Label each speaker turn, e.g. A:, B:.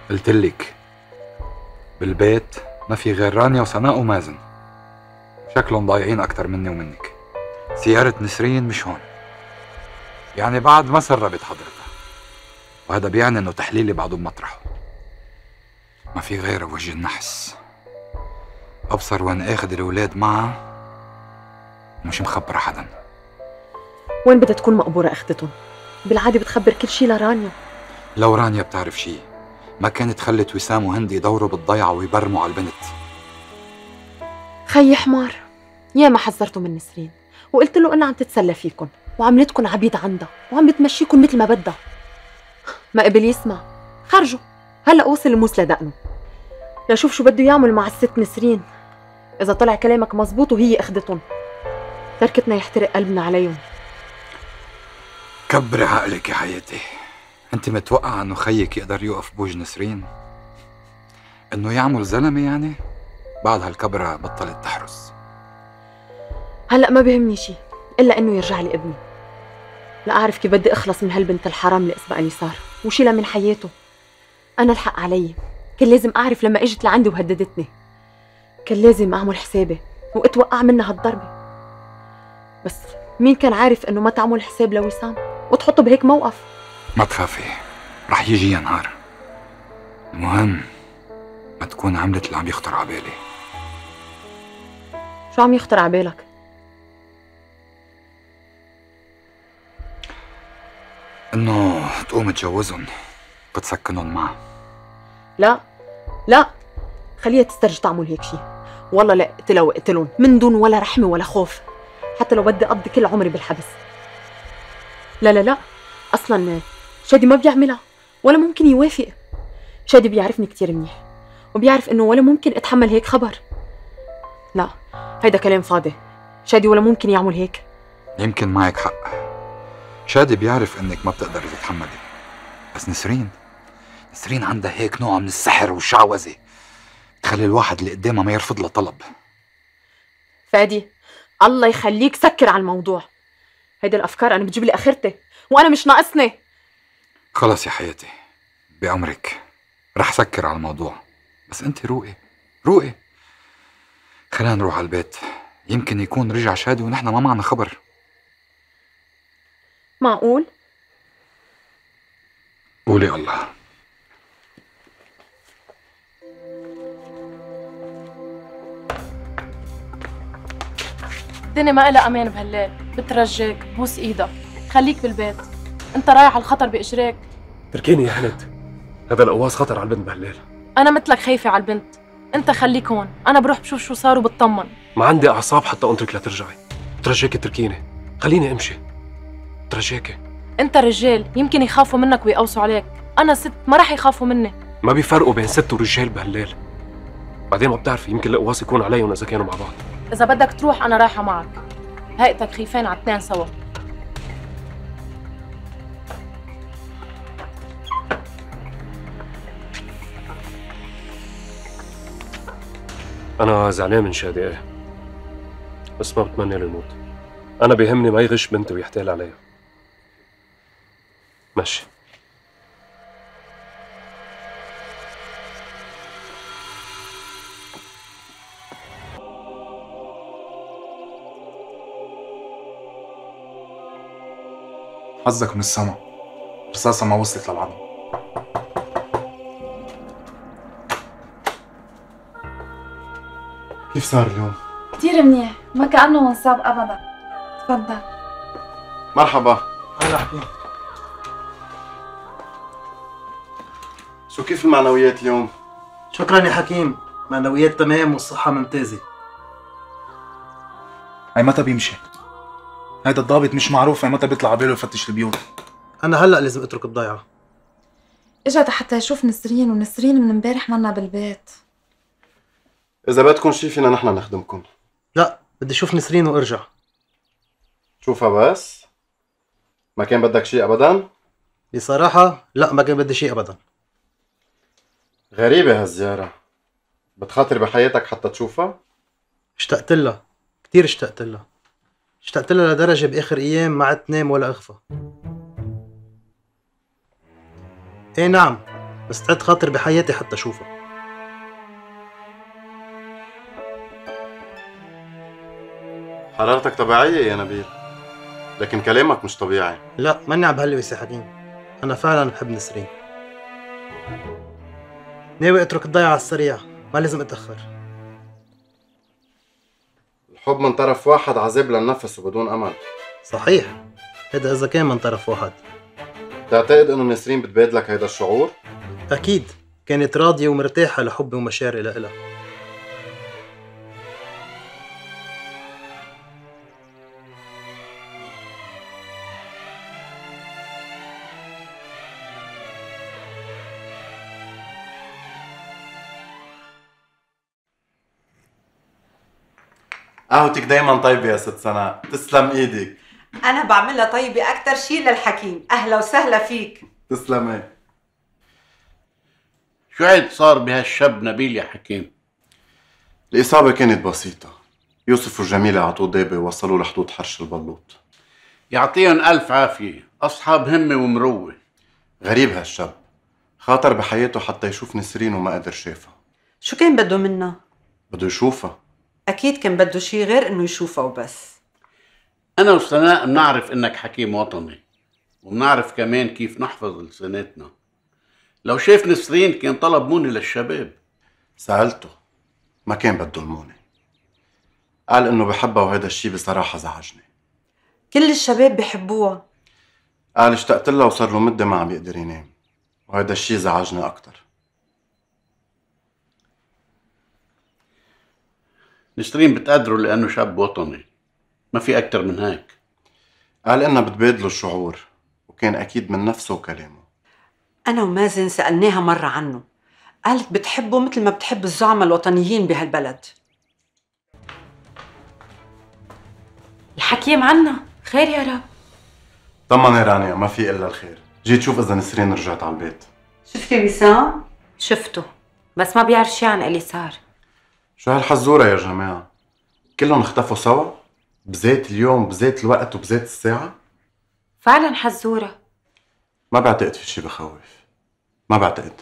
A: قلتلك بالبيت ما في غير رانيا وسناء ومازن، شكلهم ضايعين أكتر مني ومنك. سيارة نسرين مش هون، يعني بعد ما سربت حضرتها، وهذا بيعني إنه تحليلي بعده بمطرحه. ما في غير وجه النحس، أبصر وين آخذ الأولاد معها ومش مخبرة حدا.
B: وين بدها تكون مقبورة أخدتهم؟ بالعادة بتخبر كل شي لرانيا.
A: لو رانيا بتعرف شي ما كانت خلت وسام وهندي يدوروا بالضيعة ويبرموا على البنت.
B: خيي حمار، ياما حذرته من نسرين وقلت له إنها عم تتسلى فيكن وعملتكن عبيد عندها وعم بتمشيكن مثل ما بدها. ما قبل يسمع، خرجوا هلا وصل الموس لدقنه. لشوف شو بده يعمل مع الست نسرين. إذا طلع كلامك مزبوط وهي أخدتهم، تركتنا يحترق قلبنا عليهم.
A: كبري عقلك يا حياتي، انت متوقعة انه خيك يقدر يوقف بوج نسرين؟ انه يعمل زلمة يعني؟ بعد هالكبرة بطلت تحرس.
B: هلأ ما بيهمني شي إلا إنه يرجع لي ابني، لا أعرف كيف بدي أخلص من هالبنت الحرام اللي اسمها صار وشيلها من حياته. أنا الحق علي، كان لازم أعرف لما إجت لعندي وهددتني، كان لازم أعمل حسابي وأتوقع منها هالضربة. بس مين كان عارف إنه ما تعمل حساب لوسام وتحطه بهيك موقف؟
A: ما تخافي، رح يجي نهار. المهم ما تكون عملت اللي عم يخطر عبالي.
B: شو عم يخطر عبالك؟
A: انه تقوم تجوزهم وتسكنهم معها.
B: لا لا، خليها تسترجي تعمل هيك شي. والله لا اقتلها واقتلهم من دون ولا رحمة ولا خوف، حتى لو بدي أقضي كل عمري بالحبس. لا لا لا، أصلا شادي ما بيعملها ولا ممكن يوافق. شادي بيعرفني كتير منيح وبيعرف إنه ولا ممكن أتحمل هيك خبر. لا، هيدا كلام فاضي. شادي ولا ممكن يعمل هيك.
A: يمكن معك حق، شادي بيعرف انك ما بتقدري تتحملي، بس نسرين عندها هيك نوع من السحر والشعوذة تخلي الواحد اللي قدامها ما يرفض له طلب.
B: فادي الله يخليك سكر على الموضوع. هيدا الأفكار أنا بتجيب لي آخرتي وأنا مش ناقصني.
A: خلص يا حياتي، بأمرك رح سكر على الموضوع، بس انت روقي. خلينا نروح على البيت، يمكن يكون رجع شادي ونحن ما معنا خبر.
B: معقول؟
A: قولي الله.
C: الدنيا ما إلها أمان بهالليل، بترجاك بوس إيدك خليك بالبيت، أنت رايح على الخطر بإجريك.
D: تركيني يا هند، هذا القواص خطر على البنت بهالليل.
C: أنا مثلك خايفة على البنت، أنت خليك هون، أنا بروح بشوف شو صار وبطمن.
D: ما عندي أعصاب حتى أنطرك لترجعي، ترجاكي تركيني، خليني أمشي، ترجاكي.
C: أنت رجال يمكن يخافوا منك ويقوسوا عليك، أنا ست ما رح يخافوا مني.
D: ما بيفرقوا بين ست ورجال بهالليل، بعدين ما بتعرفي يمكن القواص يكون عليهم إذا كانوا مع بعض.
C: إذا بدك تروح أنا رايحة معك، هيئتك خيفين على اثنين سوا.
D: أنا زعلان من شادي إيه، بس ما بتمنى له يموت. أنا بيهمني ما يغش بنتي ويحتال عليها. ماشي.
E: حظك من السما، رصاصة ما وصلت للعظم. كيف صار اليوم؟
F: كتير منيح، ما كأنه منصاب أبدا. تفضل.
E: مرحبا. هلا حكيم. شو كيف المعنويات اليوم؟
G: شكرا يا حكيم، معنويات تمام والصحة ممتازة.
E: هي متى بيمشي؟ هيدا الضابط مش معروف هي متى بيطلع عباله يفتش البيوت.
G: أنا هلأ لازم أترك الضيعة.
F: إجا حتى يشوف نسرين، ونسرين من امبارح منا بالبيت.
E: إذا بدكم شي فينا نحن نخدمكم.
G: لا، بدي أشوف نسرين وأرجع.
E: شوفها بس؟ ما كان بدك شي أبدا؟
G: بصراحة لا، ما كان بدي شي أبدا.
E: غريبة هالزيارة، بتخاطر بحياتك حتى تشوفها؟
G: اشتقت لها، كتير اشتقت لها. اشتقت لها لدرجة بآخر أيام ما عدت نام ولا أغفى. إيه نعم، مستعد خاطر بحياتي حتى اشوفها.
E: حرارتك طبيعية يا نبيل، لكن كلامك مش طبيعي.
G: لا ماني عم بهلوي سي حكيم، انا فعلا بحب نسرين. ناوي اترك الضيعة على السريع، ما لازم اتأخر.
E: الحب من طرف واحد عذاب للنفس وبدون امل.
G: صحيح، هذا اذا كان من طرف واحد.
E: بتعتقد انه نسرين بتبادلك هيدا الشعور؟
G: اكيد، كانت راضية ومرتاحة لحبي ومشاعري لإلها.
E: قهوتك دايما طيبة يا ست سناء، تسلم ايدك.
H: أنا بعملها طيبة أكتر شي للحكيم. أهلا وسهلا فيك.
E: تسلمي.
I: شو عيد صار بهالشاب نبيل يا حكيم؟
E: الإصابة كانت بسيطة، يوسف وجميلة عطوه دابة ووصلوه لحدود حرش البلوط.
I: يعطيهم ألف عافية، أصحاب همة ومروة.
E: غريب هالشاب، خاطر بحياته حتى يشوف نسرين وما قدر شافها.
H: شو كان بده منا؟
E: بده يشوفها.
H: أكيد كان بده شي غير إنه يشوفها وبس.
I: أنا وسناء بنعرف إنك حكيم وطني، وبنعرف كمان كيف نحفظ لسانتنا. لو شاف نسرين كان طلب موني للشباب.
E: سألته، ما كان بده المونة. قال إنه بحبها وهذا الشي بصراحة زعجني.
H: كل الشباب بحبوها.
E: قال اشتقت لها وصار له مدة ما عم يقدر ينام، وهذا الشي زعجني أكتر.
I: نسرين بتقدره لأنه شاب وطني، ما في أكتر من هيك.
E: قال إنها بتبادله الشعور، وكان أكيد من نفسه وكلامه.
H: أنا ومازن سألناها مرة عنه، قالت بتحبه مثل ما بتحب الزعماء الوطنيين بهالبلد.
C: الحكيم عنا خير يا رب.
E: طمني رانيا، ما في إلا الخير. جيت شوف إذا نسرين رجعت على البيت.
H: شفتي وسام؟
J: شفته، بس ما بيعرف شي عن اليسار.
E: شو هالحزورة يا جماعة؟ كلهم اختفوا سوا؟ بذات اليوم، بذات الوقت، وبذات الساعة؟
J: فعلا حزورة.
E: ما بعتقد في شي بخوف، ما بعتقد.